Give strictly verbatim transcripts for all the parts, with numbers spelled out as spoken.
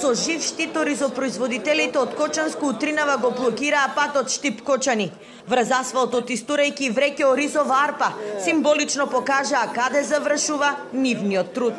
Со жив штит оризопроизводителите од Кочанско утринава го блокираа патот Штип-Кочани. Врз асфалтот истурејќи вреќе оризова арпа, символично покажаа каде завршува нивниот труд.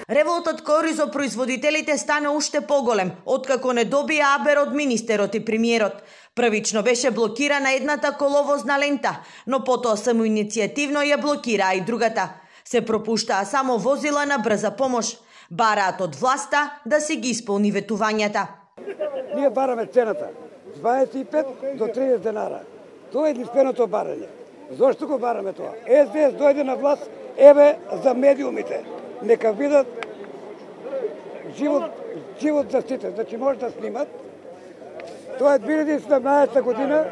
Револтот кој оризопроизводителите стана уште поголем, откако не добија абер од министерот и премиерот. Првично беше блокирана едната коловозна лента, но потоа самоиницијативно ја блокираа и другата. Се пропуштаа само возила на брза помош. Бараат од власта да си ги исполни ветувањата. Ние бараме цената дваесет и пет до триесет денара. Тоа е единственото барање. Зошто го бараме тоа? Ес Де Ес дојде на власт, еве за медиумите. Нека видат живот, живот заштитен. Значи може да снимат. Тоа е две илјади и седумнаесета година,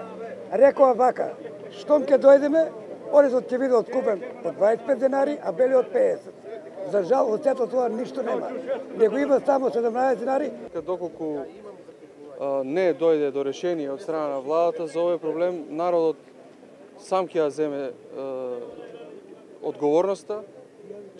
рекоа вака, штом ќе дојдеме, оризот ќе биде откупен по дваесет и пет денари, а белиот пеесет. За жал, од сето тоа ништо нема. Него има само седумнаесет денари. Доколку а, не дојде до решение од страна на владата за овој проблем, народот сам ќе ја земе а, одговорноста,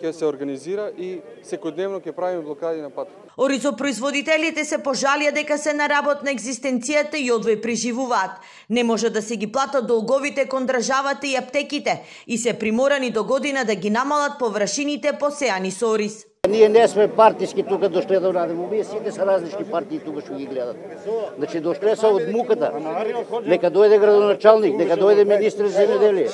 ќе се организира и секојдневно ќе правиме блокади на пат. Оризопроизводителите се пожалија дека се на работ на екзистенцијата и одвој преживуваат. Не може да се ги платат долговите кон државата и аптеките и се приморани до година да ги намалат површините посеани со ориз. Ние не сме партиски тука дошле да радиме, вие сите се различни партии тука што ги гледат. Значи дошле се од муката. Нека дојде градоначалник, нека дојде министр за земјоделие.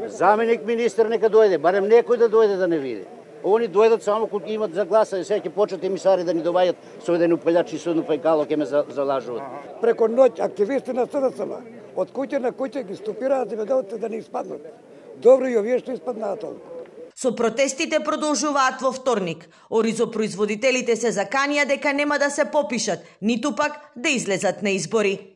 Заменик министр нека дојде, барем некој да дојде да не види. Они дојдат само кога имат за гласа и сега ќе почнат емисари да ни доваѓат со еден упелјач и со едно пајкало ќе ме залажуваат. Преко ноќ активисти на С Д С М од куќе на куќе ги стопираат земјоделците да не испаднат. Добро и овие што испаднаат толку. Со протестите продолжуваат во вторник. Оризопроизводителите се заканија дека нема да се попишат, ниту пак да излезат на избори.